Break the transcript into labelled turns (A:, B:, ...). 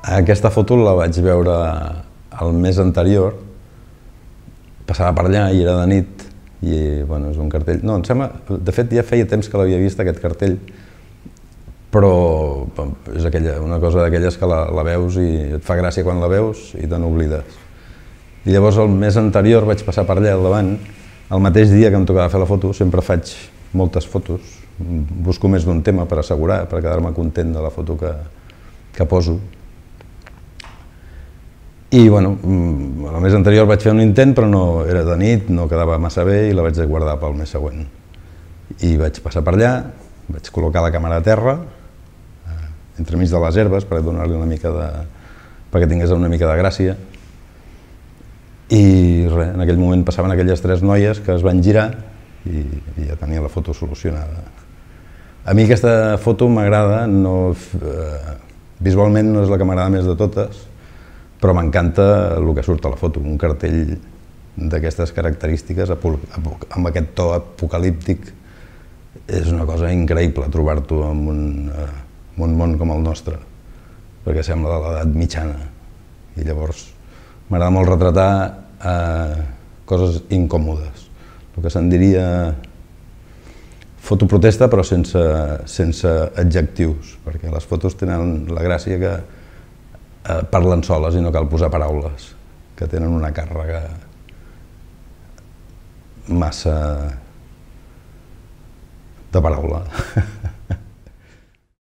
A: Aquesta foto la vaig veure el mes anterior, passava per allà i era de nit, i bueno, és un cartell... No, em sembla... De fet, ja feia temps que l'havia vist, aquest cartell, però és una cosa d'aquelles que la veus i et fa gràcia quan la veus i te n'oblides. I llavors el mes anterior vaig passar per allà al davant, el mateix dia que em tocava fer la foto, sempre faig moltes fotos, busco més d'un tema per assegurar, per quedar-me content de la foto que poso. I bueno, el mes anterior vaig fer un intent, però no era de nit, no quedava massa bé i la vaig guardar pel mes següent. I vaig passar per allà, vaig col·locar la càmera a terra, entremig de les herbes, per donar-li una mica de... perquè tingués una mica de gràcia. I res, en aquell moment passaven aquelles tres noies que es van girar i ja tenia la foto solucionada. A mi aquesta foto m'agrada, visualment no és la que m'agrada més de totes, però m'encanta el que surt a la foto, un cartell d'aquestes característiques, amb aquest to apocalíptic. És una cosa increïble trobar-t'ho en un món com el nostre, perquè sembla de l'edat mitjana. I llavors m'agrada molt retratar coses incòmodes, el que se'n diria fotoprotesta però sense adjectius, perquè les fotos tenen la gràcia que parlen soles i no cal posar paraules, que tenen una càrrega massa de paraula.